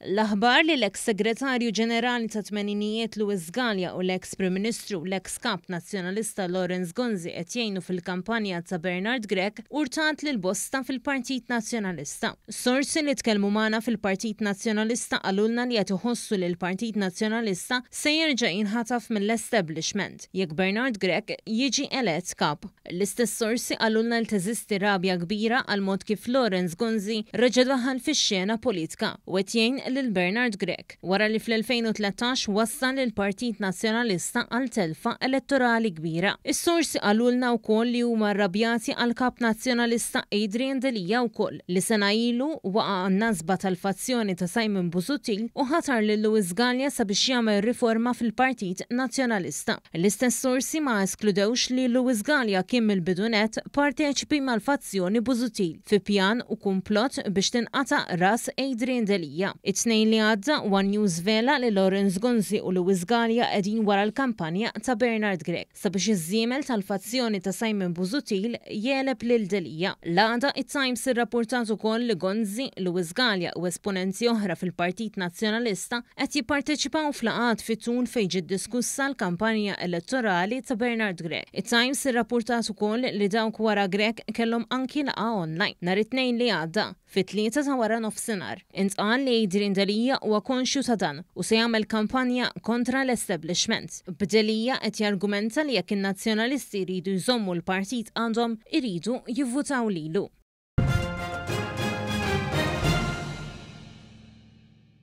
L-aħbar li l-eks Segretarju Ġenerali tat-tmeninijiet Louis Galea u l-eks Prim Ministru u l-eks Kap Nazzjonalista Lawrence Gonzi qed jgħinu fil-kampanja ta' Bernard Grech urtat lil bosta fil-Partit Nazzjonalista. Sorsi li tkellmu magħna fil-Partit Nazzjonalista qalulna li qed iħossu li l-Partit Nazzjonalista se jerġa' jinħataf mill-establishment jekk Bernard Grech jiġi elett Kap. L-istess sorsi qalulna li teżisti rabja kbira għall-mod kif Lawrence Gonzi reġa' daħal fix-xena politka u qed jgħin lil Bernard Grech, wara li fl-2013 wassal lill-Partit Nazzjonalista għal telfa elettorali kbira. Is-sorsi qalulna wkoll li huma rrabjati għall-Kap Nazzjonalista Adrian Delia wkoll, li sena ilu waqa' għan-nasba tal-fazzjoni ta' Simon Busuttil u ħatar lil Louis Galea sabiex jagħmel riforma fil-Partit Nazzjonalista. L-istess sorsi ma eskludewx li Louis Galea kien mill-bidu nett parteċipi mal-fazzjoni Busuttil fi pjan u kumplott biex tinqata' ras Adrian Delia. It-Tnejn li għadda, one News żvela li Lawrence Gonzi u Louis Galea qegħdin wara l-kampanja ta' Bernard Grech sabiex iż-żiemel tal-fazzjoni ta' Simon Busuttil jegħleb lil Delia. L-għada, it-Times irrappurtat ukoll li Gonzi, Louis Galea u esponenti oħra fil-Partit Nazzjonalista qed jipparteċipaw f'laqgħat fit-tul fejn ġiet diskussa l-kampanja elettorali ta' Bernard Grech. It-Times irrappurtat ukoll li dawk wara Grech kellhom anki laqgħa online, nhar it-Tnejn li għadda, fit-tlieta ta' wara nofsinhar. Intqal li Adrian Delia huwa konxju ta' dan u se jagħmel kampanja kontra l-establishment. B'Delia qed jargumenta li jekk in-Nazzjonalisti jridu jżommu l-partit għandhom, iridu jivvutaw lilu.